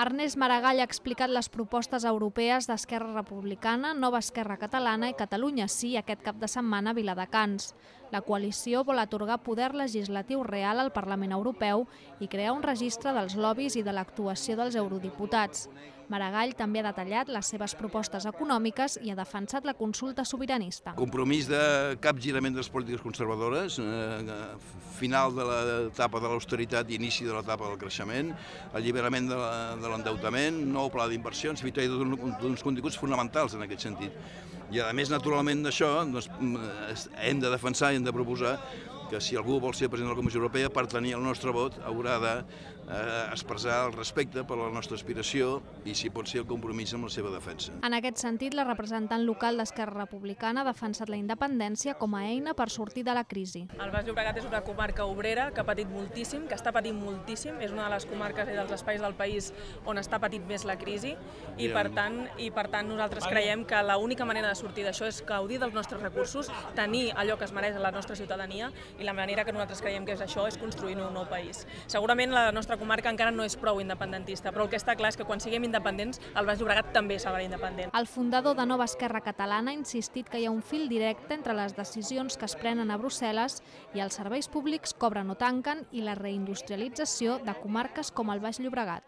Ernest Maragall ha explicat les propostes europees d'Esquerra Republicana, Nova Esquerra Catalana i Catalunya Sí aquest cap de setmana a Viladecans. La coalició vol atorgar poder legislatiu real al Parlament Europeu i crear un registre dels lobbies i de l'actuació dels eurodiputats. Maragall també ha detallat les seves propostes econòmiques i ha defensat la consulta sobiranista. Compromís de capgirament de les polítiques conservadores, final de l'etapa de l'austeritat i inici de l'etapa del creixement, alliberament de l'endeutament, nou pla d'inversions, hi ha uns continguts fonamentals en aquest sentit. I a més, naturalment, d'això hem de defensar i hem de proposar que si algú vol ser president de la Comissió Europea, per tenir el nostre vot haurà d'expressar el respecte per la nostra aspiració i, si pot ser, el compromís amb la seva defensa. En aquest sentit, la representant local d'Esquerra Republicana ha defensat la independència com a eina per sortir de la crisi. El Baix Llobregat és una comarca obrera que ha patit moltíssim, que està patint moltíssim, és una de les comarques i dels espais del país on està patint més la crisi i per tant nosaltres creiem que l'única manera de sortir d'això és gaudir dels nostres recursos, tenir allò que es mereix a la nostra ciutadania i la manera que nosaltres creiem que és això és construir un nou país. Segurament la nostra comarca encara no és prou independentista, però el que està clar és que quan siguem independents, el Baix Llobregat també serà independent. El fundador de Nova Esquerra Catalana ha insistit que hi ha un fil directe entre les decisions que es prenen a Brussel·les i els serveis públics que obren o tanquen i la reindustrialització de comarques com el Baix Llobregat.